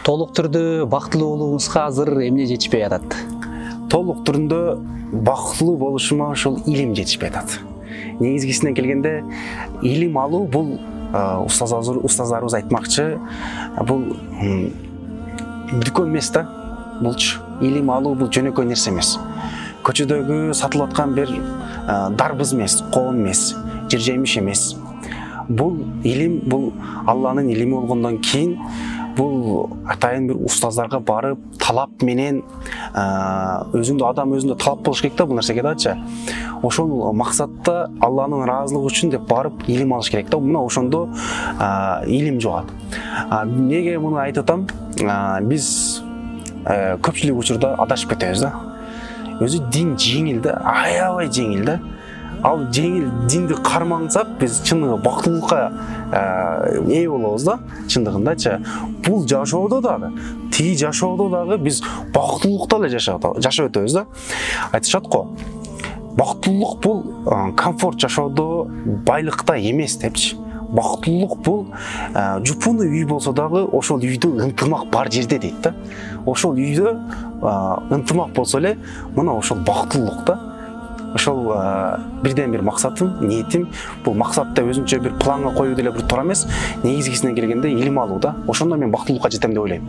Толук түрдө бактылуу болууңузга азыр эмне жетишпей атат? Толук түрүндө бактылуу болушума ошол илим жетишпей атат. Негизгисине келгенде илим алуу бул устаздарыбыз айтмакчы, бул дүкөн эмес да. Булчу илим алуу бул жөнөкөй нерсе эмес. Көчөдөгү сатылып аткан бир дарбыз эмес, коон эмес, жер жемиш эмес. Бул илим, бул Алланын илими болгондон кийин бул атайын бир устаздарга барып талап менен адам өзүндө талап болуш керек да бул нерсеге дачы. Ошол максатта Алланын ыраазылыгы үчүн деп барып илим алыш керек да. Мына ошондо илим жугат. Неге муну айтып атам? Биз көпчүлүк учурда адашып кетебиз да. Өзү дин жеңил да, аябай жеңил да. Ал жеңил динди кармансак, биз чындыгы бактылыкка ээ болобуз да, чындыгындачы. Бул жашоодо дагы, тиги жашоодо дагы биз бактылыкта эле жашап өтөбүз да. Айтышат го. Бактылык бул комфорт жашоодо, байлыкта эмес депчи. Бактылык бул жупуну үй болсо дагы ошол үйдө ынтымак бар жерде дейт да. Ошол үйдө ынтымак болсо эле, мына ошол бактылык да. Ошол бирден бир максатым, ниетим, бул максатты өзүнчө бир планга коюу деле бир туура эмес. Негизгисине келгенде илим алуу да. Ошондо мен бактылыкка жетем деп ойлойм.